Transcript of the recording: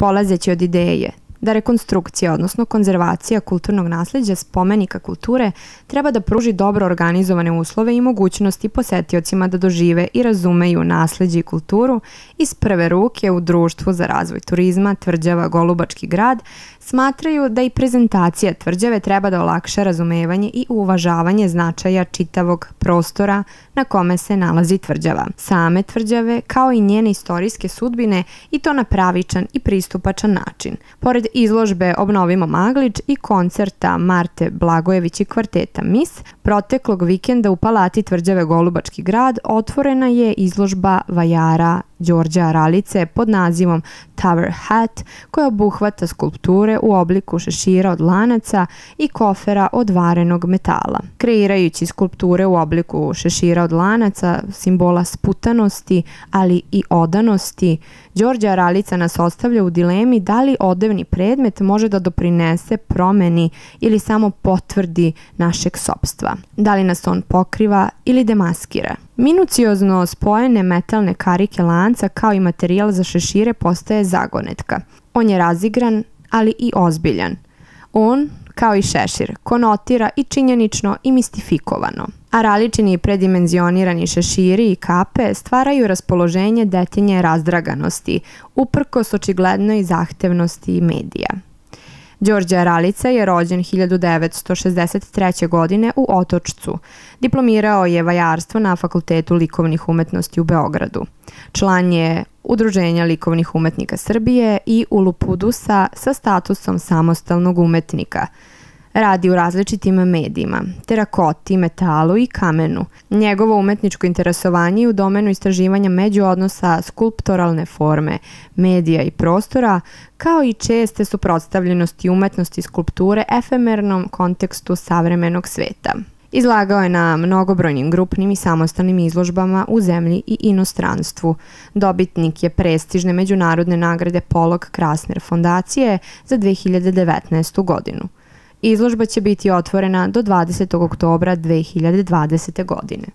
Polazeći od ideje da rekonstrukcija, odnosno konzervacija kulturnog nasleđa spomenika kulture treba da pruži dobro organizovane uslove i mogućnosti posetiocima da dožive i razumeju nasleđe i kulturu iz prve ruke u Društvu za razvoj turizma Tvrđava Golubački grad, smatraju da i prezentacija tvrđave treba da olakša razumevanje i uvažavanje značaja čitavog prostora na kome se nalazi tvrđava, same tvrđave kao i njene istorijske sudbine i to na pravičan i pristupačan način. Pored izložbe Obnovimo Maglič i koncerta Marte Blagojević i kvarteta Mis, proteklog vikenda u Palati Tvrđave Golubački grad otvorena je izložba vajara Đorđa Aralice pod nazivom Tower Hat, koja obuhvata skulpture u obliku šešira od lanaca i kofera od varenog metala. Kreirajući skulpture u obliku šešira od lanaca, simbola sputanosti, ali i odanosti, Đorđe Aralica nas ostavlja u dilemi da li odevni predmet može da doprinese promeni ili samo potvrdi našeg sopstva. Da li nas on pokriva ili demaskira. Minuciozno spojene metalne karike lanca kao i materijal za šešire postaje zagonetka. On je razigran, ali i ozbiljan. On, kao i šešir, konotira i činjenično i mistifikovano. Araličini predimenzionirani šeširi i kape stvaraju raspoloženje detaljne razdraganosti, uprkos očiglednoj zahtevnosti medija. Đorđe Aralica je rođen 1963. godine u Otočcu. Diplomirao je vajarstvo na Fakultetu likovnih umetnosti u Beogradu. Član je Udruženja likovnih umetnika Srbije i Ulupudusa sa statusom samostalnog umetnika. Radi u različitim medijima, terakoti, metalu i kamenu. Njegovo umetničko interesovanje je u domenu istraživanja međuodnosa skulptoralne forme, medija i prostora, kao i česte suprotstavljenosti umetnosti skulpture efemernom kontekstu savremenog sveta. Izlagao je na mnogobrojnim grupnim i samostalnim izložbama u zemlji i inostranstvu. Dobitnik je prestižne međunarodne nagrade Polog Krasner fondacije za 2019. godinu. Izložba će biti otvorena do 20. oktobra 2020. godine.